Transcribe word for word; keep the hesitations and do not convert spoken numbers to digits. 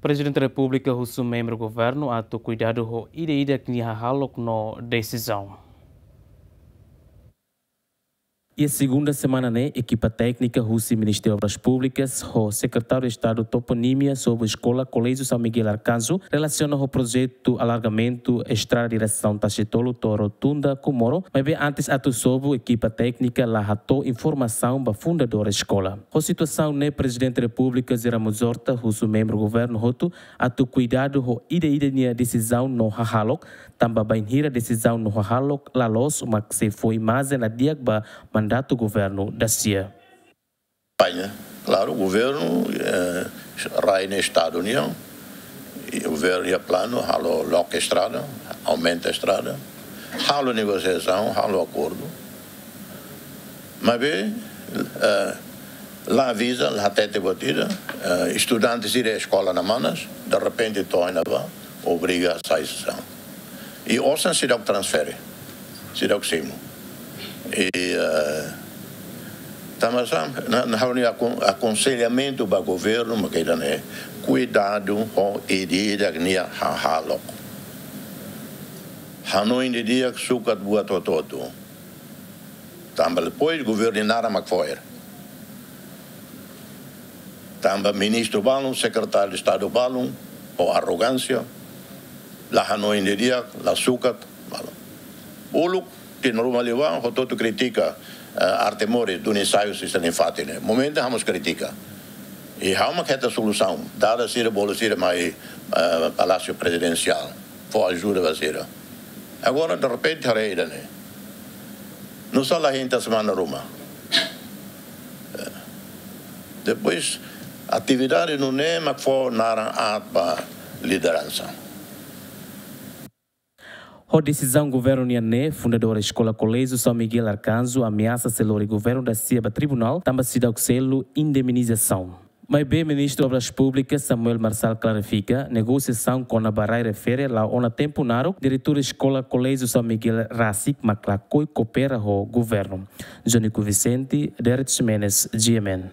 Prezidente Repúblika husu membru governu atu kuidadu ho ida-idak nia hahalok no desizaun. Iha segunda semana ne'e, ekipa téknika husi Ministériu Obras Públikas ho Sekretáriu Estadu Toponímia sobu Eskola Koléjiu São Miguel Arcanjo relasiona ho projetu alargamentu estrada diresaun Tasitolu to'o Rotunda Comoro, maibé antes atu sobu, ekipa téknika la hato'o informasaun ba fundadór eskola. Ho situasaun ne'e, Prezidente Repúblika José Ramos Horta husu membru governu hotu atu kuidadu ho ida-idak nia desizaun no hahalok, tanba bainhira desizaun no hahalok la loos mak sei fó imajen la di'ak ba mandatu governu dasia. Paña, klaru, governu, eh, rai ne'e Estadu nian, i governu iha planu halo loke estrada, aumenta estrada, halo negosiasaun, halo akordu. Maibé, eh, la aviza, la hatete buat ida, eh, estudante sira eskola na Manas, derrepente to'o iha ne'ebá, obriga sai sesaun. I osan seidauk transfere, seidauk simu. I, eh, tanba sá, na, na ha'u-nia akon-, akonselhamentu ba governu mak ida-ne'e, kuidadu ho ida-idak nia hahalok. Hanoin didi'ak, sukat buat hotu-hotu. Tanba depois governu nia naran mak fo'er. Tanba ministru balun, sekretáriu Estadu balun, ho arrogánsia, la hanoin didi'ak, la sukat, balun. Uluk, tinan ruma liubá, hotu-hotu kritika, eh, Arte Moris, duni ensaiu sira-nia fatin ne'e. Momentu ha'u mós kritika. I ha'u mak hetan solusaun, dada sira, bolu sira mai, eh, Palásiu Prezidensiál, fó ajuda ba sira. Agora, derrepente, haree ida-ne'e. Nusá la hein tiha semana ruma. Eh, depois, atividade nune'e mak fó naran aat ba lideransa. Ho desizaun governu nian ne'e, fundadór Eskola Koléjiu São Miguel Arcanjo ameasa sei lori governu dasia ba tribunál, tanba seidauk selu indemnizasaun. Maibé Ministru Obras Públikas Samuel Marçal klarifika, negosiasaun kona-ba rai refere la'o ona tempu naruk, diretór Eskola Koléjiu São Miguel rasik mak lakohi koopera ho governu. Jonico Vicente, Derek Ximenes, G M N.